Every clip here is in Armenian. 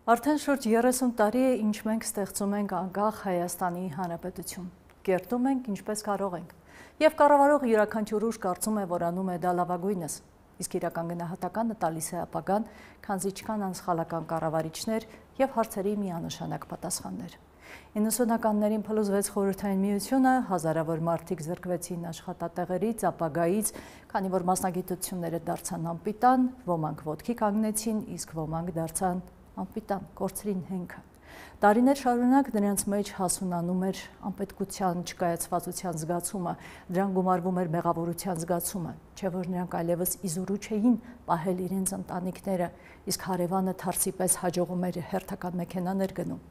Արդեն շուրջ 30 տարի է, ինչ մենք ստեղծում ենք անկախ Հայաստանի Հանրապետություն։ Կերտում ենք ինչպես կարող ենք։ Եվ կառավարող յուրաքանչյուր ուժ կարծում է, որ անում է դա լավագույնս։ Իսկ իրական գնահատականը տալիս է ապագան, քանզի չկան անսխալական կառավարիչներ եւ հարցերի միանշանակ պատասխաններ։ 90-ականներին փլուզվեց Խորհրդային Միությունը, հազարավոր մարդիկ զրկվեցին աշխատատեղերից, ապագայից, քանի որ մասնագիտությունները դարձան անպիտան, ոմանք ոտքի կանգնեցին, իսկ ոմանք դարձան անպիտան, կորցրին հենքը։ Տարիներ շարունակ նրանց մեջ հասունանում էր անպետքության չկայացվածության զգացումը, դրան գումարվում էր մեղավորության զգացումը, չէ որ նրանք այլևս իզորու չէին պահել իրենց ընտանիքները, իսկ հարևանը թարսի պես հաջողում էր հերթական մեքենաներ գնում։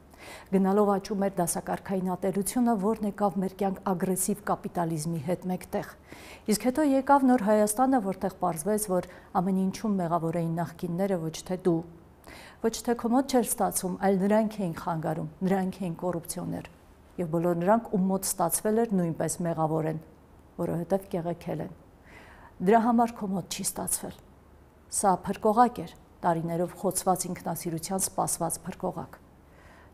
Գնալով աճում էր դասակարգային ատելությունը, որն եկավ մեր կյանք ագրեսիվ կապիտալիզմի հետ մեկտեղ։ Իսկ հետո եկավ նոր Հայաստանը, որտեղ պարզվեց, որ ամեն ինչում մեղավոր էին նախկինները, ոչ թե դու։ Ոչ թե քո մոտ չէր ստացվում, այլ նրանք էին խանգարում, նրանք էին կոռուպցիոներ։ Եվ բոլոր նրանք, ում մոտ ստացվել էր, նույնպես մեղավոր են, որովհետև կեղեքել են։ Դրա համար քո մոտ չի ստացվել։ Սա փրկողակ էր, տարիներով խոցված ինքնասիրության սպասված փրկողակ։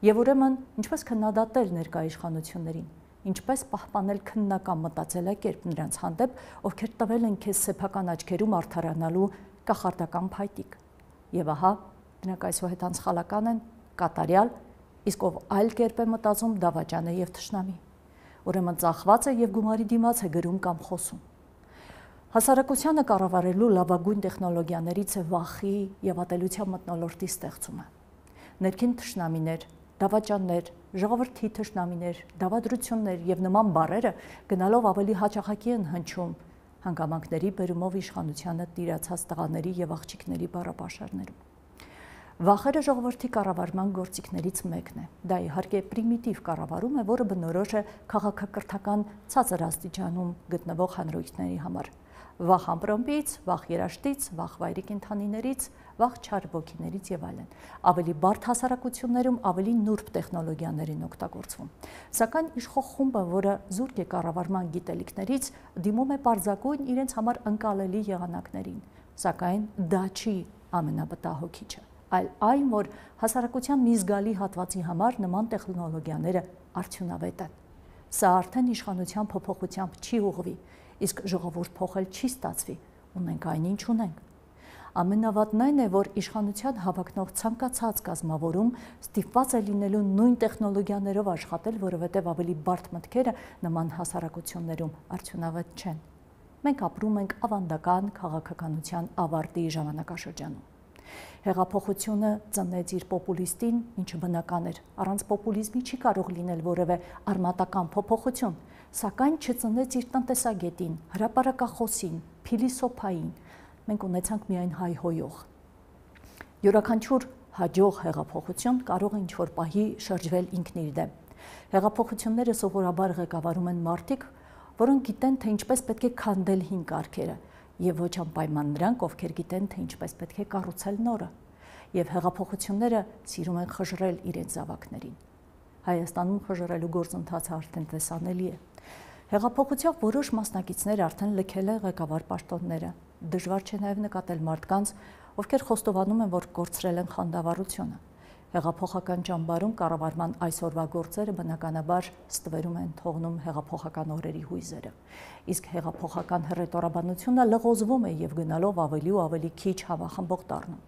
Եվ ուրեմն, ինչպես քննադատել ներկա իշխանություններին, ինչպես պահպանել քննական մտածելակերպ նրանց հանդեպ, ովքեր տվել են քեզ սեփական աչքերում արդարանալու կախարդական փայտիկ։ Եվ ահա, նրանք այսուհետ անսխալական են, կատարյալ, իսկ ով այլ կերպ է մտածում, դավաճան է եւ թշնամի։ Ուրեմն ծախված է եւ գումարի դիմաց է գրում կամ խոսում։ Հասարակությանը կառավարելու լավագույն տեխնոլոգիաներից է վախի եւ ատելության մթնոլորտի ստեղծումը։ Ներքին թշնամիներ, դավաճաններ, ժողովրդի թշնամիներ, դավադրություններ եւ նման բառերը գնալով ավելի հաճախակի են հնչում հանգամանքների բերումով իշխանությանը տիրացած տղաների եւ աղջիկների բառապաշարներում։ Վախերը ժողովրդի կառավարման գործիքներից մեկն է։ Դա իհարկե պրիմիտիվ կառավարում է, որը բնորոշ է քաղաքակրթական ցածր աստիճանում գտնվող հանրույթների համար։ Վախ ամպրոմպից, վախ երաշտից, վախ վայրի կենդանիներից, վախ չար ոգիներից եւ այլն։ Ավելի բարդ հասարակություններում ավելի նուրբ տեխնոլոգիաներ են օգտագործվում։ Սակայն իշխող խումբը, որը զուրկ է կառավարման գիտելիքներից, դիմում է պարզագույն իրենց համար ընկալելի եղանակներին։ Սակայն դա չի ամենավտահոգիչը, այլ այն, որ հասարակության մի զգալի հատվածի համար նման տեխնոլոգիաները արդյունավետ են։ Սա արդեն իշխանության փոփոխությամբ չի ուղղվի, իսկ ժողովուրդ փոխել չի ստացվի, ունենք այնինչ ունենք։ Ամենավատն այն է, որ իշխանության հավակնող ցանկացած կազմավորում ստիպված է լինելու նույն տեխնոլոգիաներով աշխատել, որովհետև ավելի բարդ մտքերը նման հասարակություններում արդյունավետ չեն։ Մենք ապրում ենք ավանդական քաղաքականության ավարտի ժամանակաշրջանում։ Հեղափոխությունը ծնեց իր պոպուլիստին, ինչը բնական էր, առանց պոպուլիզմի չի կարող լինել որևէ արմատական փոփոխություն, սակայն չծնեց իր տնտեսագետին, հրապարակախոսին, փիլիսոփային, մենք ունեցանք միայն հայհոյող։ Յուրաքանչյուր հաջող հեղափոխություն կարող է ինչ-որ պահի շրջվել ինքն իր դեմ։ Հեղափոխությունները սովորաբար ղեկավարում են մարդիկ, որոնք գիտեն, թե ինչպես պետք է քանդել հին կարգերը, եւ ոչ անպայման նրանք, ովքեր գիտեն, թե ինչպես պետք է կառուցել նորը, եւ հեղափոխությունները սիրում են խժռել իրենց զավակներին։ Հայաստանում խժռելու գործընթացը արդեն տեսանելի է։ Հեղափոխության որոշ մասնակիցներ արդեն լքել են ղեկավար պաշտոնները։ Դժվար չէ նաեւ նկատել մարդկանց, ովքեր խոստովանում են, որ կորցրել են խանդավառությունը։ Հեղափոխական ճամբարում կառավարման այսօրվա գործերը բնականաբար ստվերում են թողնում հեղափոխական օրերի հույզերը։ Իսկ հեղափոխական հռետորաբանությունը լղոզվում է եւ գնալով ավելի ու ավելի քիչ հավախմբող դառնում։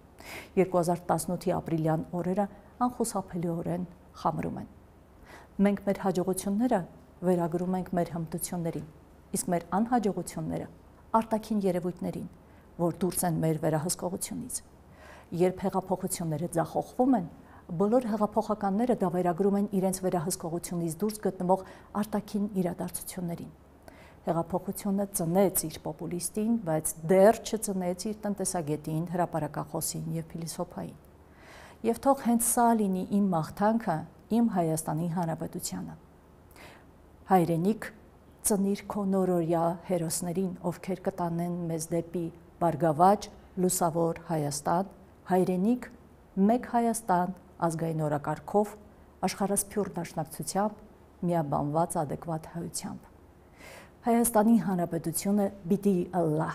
2018-ի ապրիլյան օրերը անխուսափելիորեն խամրում են։ Մենք մեր հաջողությունները վերագրում ենք մեր հմտություններին, իսկ մեր անհաջողությունները արտաքին երևույթներին, որ դուրս են մեր վերահսկողությունից։ Երբ հեղափոխությունները ձախողվում են, բոլոր հեղափոխականները դա վերագրում են իրենց վերահսկողությունից դուրս գտնվող արտաքին իրադարձություններին։ Հեղափոխությունը ծնեց իր պոպուլիստին, բայց դեռ չծնեց իր տնտեսագետին, հրապարակախոսին եւ փիլիսոփային։ Եվ թող հենց սա լինի իմ մաղթանքը իմ Հայաստանի Հանրապետությանը։ Հայրենիք, ծնիր քո նորօրյա հերոսներին, ովքեր կտանեն մեզ դեպի բարգավաճ, լուսավոր Հայաստան, հայրենիք, մեկ Հայաստան, ազգային օրակարգով, աշխարհասփյուռ դաշնակցությամբ, միաբանված ադեկվատ հայությամբ։ Հայաստանի Հանրապետությունը պիտի ըլլա